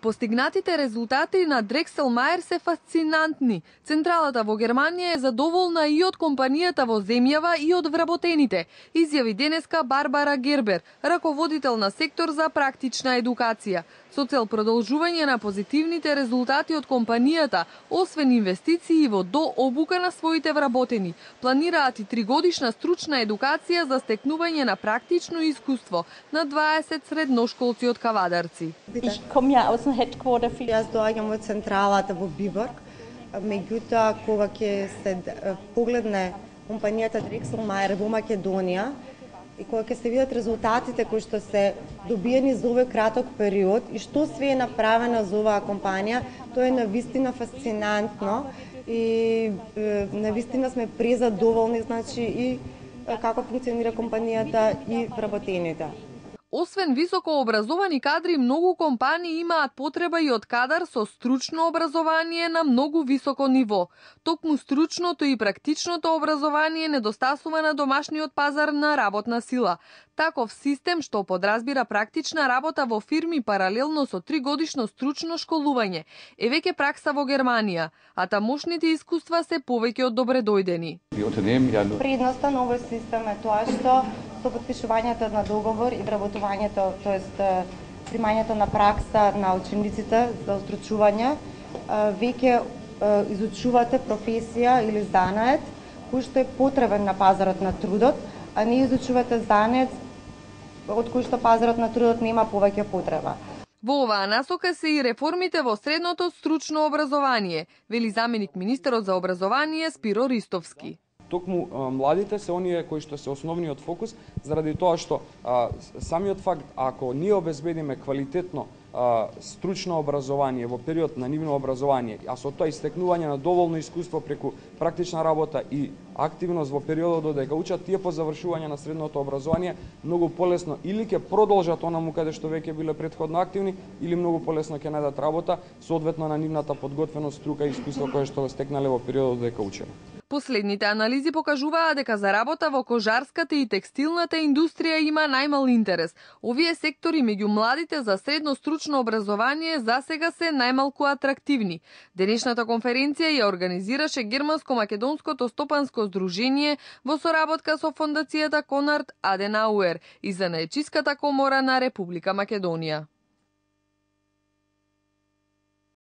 Постигнатите резултати на Дрекселмајер се фасцинантни. Централата во Германија е задоволна и од компанијата во земјава и од вработените, изјави денеска Барбара Гербер, раководител на сектор за практична едукација. Со цел продолжување на позитивните резултати од компанијата, освен инвестиции во дообука на своите вработени, планираат и 3-годишна стручна едукација за стекнување на практично искуство на 20 средношколци од Кавадарци. Јас доаѓам од централата во Биборг, меѓутоа кога ќе се погледне компанијата Дрекселмајер во Македонија и кога ќе се видат резултатите кои што се добиени за овој краток период и што све е направено за оваа компанија, тоа е навистина фасцинантно и навистина сме презадоволни, значи и како функционира компанијата и вработените. Освен високо образовани кадри, многу компании имаат потреба и од кадар со стручно образование на многу високо ниво. Токму стручното и практичното образование недостасува на домашниот пазар на работна сила. Таков систем што подразбира практична работа во фирми паралелно со 3-годишно стручно школување е веќе пракса во Германија, а тамошните искуства се повеќе од добредојдени. Предноста на овој систем е тоа што со потпишувањето на договор и вработувањето, тоест примањето на пракса на учениците за устручување, веќе изучувате професија или занает кој што е потребен на пазарот на трудот, а не изучувате занает од кој што пазарот на трудот нема повеќе потреба. Во оваа насока се и реформите во средното стручно образование, вели заменик министерот за образование Спиро Ристовски. Токму младите се оние кои што се основниот фокус, заради тоа што самиот факт, ако ние обезбедиме квалитетно стручно образование во период на нивно образование, а со тоа истекнување на доволно искуство преку практична работа и активност во периодот додека учат, тие по завршување на средното образование многу полесно или ќе продолжат онаму каде што веќе биле претходно активни, или многу полесно ќе најдат работа соодветно на нивната подготвеност, струка и искуство кое што го стекнале во периодот додека учеле. Последните анализи покажуваат дека за работа во кожарската и текстилната индустрија има најмал интерес. Овие сектори меѓу младите за средно стручно образование засега се најмалку атрактивни. Денешната конференција ја организираше Германско-македонското стопанско здружение во соработка со фондацијата Конрад Аденауер и Занаечиската комора на Република Македонија.